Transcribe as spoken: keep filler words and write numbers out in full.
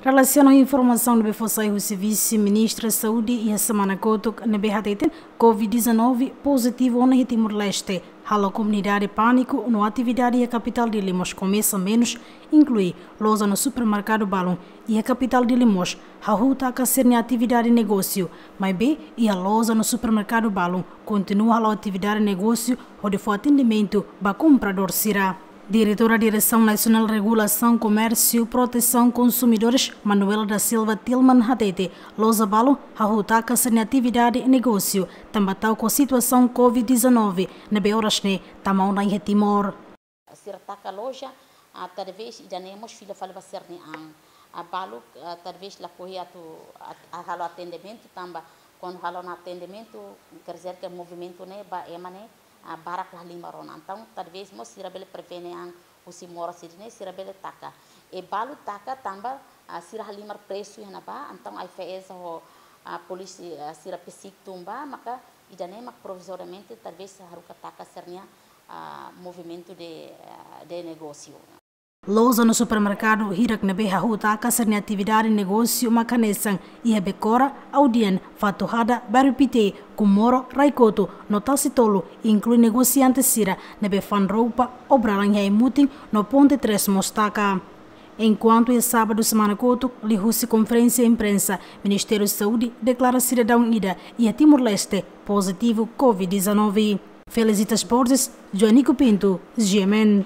Relasiona ho informasaun ne'ebé fó sai husi Vise-Ministra Saúde iha semana kotuk, ne'ebé hateten COVID-19 pozitivu ona iha Timor-Leste, halo komunidade pániku no atividade iha kapitál Dili mós komesa menus, inklui loja no supermerkadu balun iha kapitál Dili mós hahú taka sira-nia atividade negósiu, maibé iha loja no supermerkadu balun kontinua halo atividade negósiu hodi fó atendimentu ba kompradór sira. Diretora Diresaun Nasionál Regulasaun Komérsiu Protesaun Konsumidores, Manuela da Silva Tilman, hatete loja balun hahú taka sira-nia atividade negósiu tanba ta'uk ho situasaun COVID-19 ne'ebé oras ne'e tama ona iha Timor. Sira taka loja, ah, talvés ida-ne'e mós fila fali ba sira-nia an. Ah, balu, ah, talvés lakohi atu at-, ah, halo atendimentu tanba kuandu halo ona atendimentu, quer dizer que movimentu ne'e ba ema ne'e, ah, barak la halimar ona. Entaun, talvés mós sira bele prevene an husi moras sira-ne'e, sira bele taka. I balu taka tanba, ah, sira halimar presu iha ne'ebá, entaun AIFAESA ho, ah, polísia, ah, sira besik tun ba, maka ida-ne'e mak provizoriamente talvés haruka taka sira-nia, ah, movimentu de, ah, de negósiu. Loja no supermerkadu hirak ne'ebé hahú taka sira-nia atividade negósiu mak hanesan iha Becora, Audien, Fatuhada, Bairru Pité, Comoro, Raikoto no Tasitolu, inklui negosiante sira ne'ebé fa'an roupa, obralan iha Ai-Mutin no Ponte Três mós taka. Enkuantu iha sábadu semana kotuk, liuhusi konferénsia imprensa, Ministériu Saúde deklara sidadaun ida iha Timor-Leste pozitivu COVID-19. Felicitas Borges, Joanico Pinto, G M N.